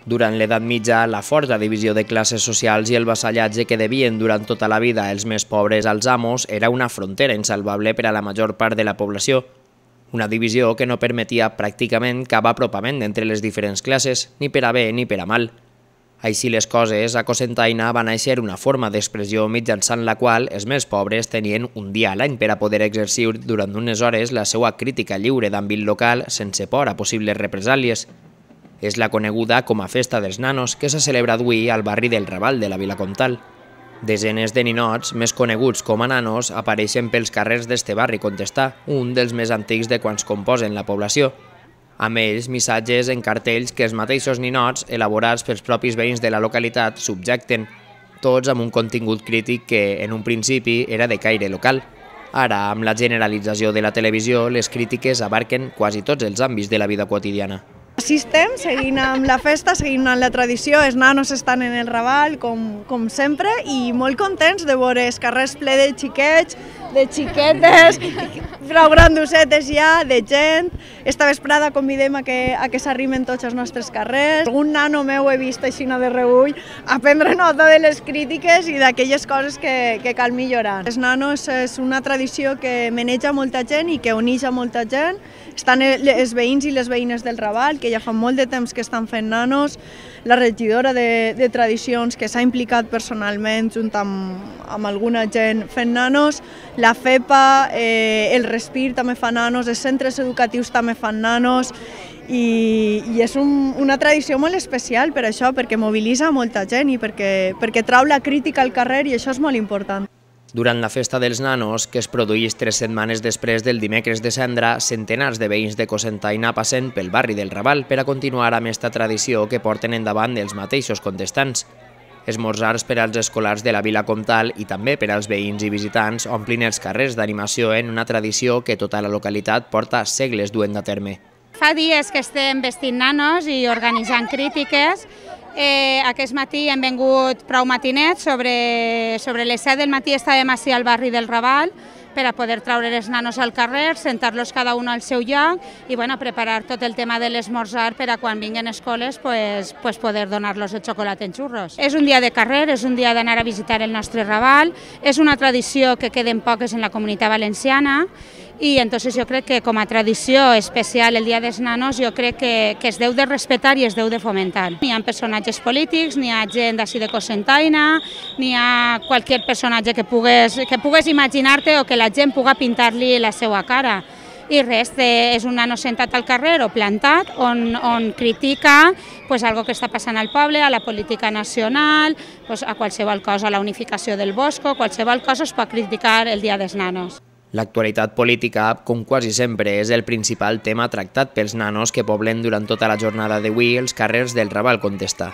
Durant l'edat mitja, la forta divisió de classes socials i el vassallatge que devien durant tota la vida els més pobres als amos era una frontera insalvable per a la major part de la població. Una divisió que no permetia pràcticament cap apropament entre les diferents classes, ni per a bé ni per a mal. Així les coses, a Cocentaina va néixer una forma d'expressió mitjançant la qual els més pobres tenien un dia a l'any per a poder exercir durant unes hores la seva crítica lliure d'àmbit local sense por a possibles represàlies. És la coneguda com a Festa dels Nanos, que se celebra avui al barri del Raval de la Vila Comtal. Desenes de ninots, més coneguts com a nanos, apareixen pels carrers d'este barri contestà, un dels més antics de quants composen la població. Amb ells, missatges en cartells que els mateixos ninots, elaborats pels propis veïns de la localitat, subjecten, tots amb un contingut crític que, en un principi, era de caire local. Ara, amb la generalització de la televisió, les crítiques abarquen quasi tots els àmbits de la vida quotidiana. Així estem, seguint amb la festa, seguint amb la tradició, els nanos estan en el Raval, com sempre, i molt contents de veure els carrers ple de xiquets, de xiquetes, prou grandosetes ja, de gent. Esta vesprada convidem a que s'arrimen tots els nostres carrers. Algun nano meu he vist així de reüll a prendre nota de les crítiques i d'aquelles coses que cal millorar. Els nanos és una tradició que maneja molta gent i que uneix a molta gent. Estan els veïns i les veïnes del Raval, que ja fa molt de temps que estan fent nanos, la regidora de tradicions que s'ha implicat personalment junt amb alguna gent fent nanos, la FEPA, el Respir també fa nanos, els centres educatius també fan nanos i és una tradició molt especial per això, perquè mobilitza molta gent i perquè trau la crítica al carrer i això és molt important. Durant la Festa dels Nanos, que es produeix 3 setmanes després del dimecres de Cendra, centenars de veïns de Cocentaina passen pel barri del Raval per a continuar amb esta tradició que porten endavant els mateixos contestants. Esmorzars per als escolars de la Vila Comtal i també per als veïns i visitants omplin els carrers d'animació en una tradició que tota la localitat porta segles duent a terme. Fa dies que estem vestint nanos i organitzant crítiques. Aquest matí hem vengut prou matinets, sobre les 7 del matí estàvem ací al barri del Raval per a poder traure els nanos al carrer, sentar-los cada un al seu lloc i preparar tot el tema de l'esmorzar per a quan vinguen escoles poder donar-los el xocolat en xurros. És un dia de carrer, és un dia d'anar a visitar el nostre Raval, és una tradició que queden poques en la Comunitat Valenciana i entonces jo crec que com a tradició especial el Dia dels Nanos jo crec que es deu de respectar i es deu de fomentar. N'hi ha personatges polítics, n'hi ha gent d'ací de Cocentaina, n'hi ha qualsevol personatge que pugues imaginar-te o que la gent pugui pintar-li la seva cara. I res, és un nano sentat al carrer o plantat on critica algo que està passant al poble, a la política nacional, a qualsevol cosa, a la unificació del Bosco, qualsevol cosa es pot criticar el Dia dels Nanos. L'actualitat política, com quasi sempre, és el principal tema tractat pels nanos que poblen durant tota la jornada d'avui els carrers del Raval contestà.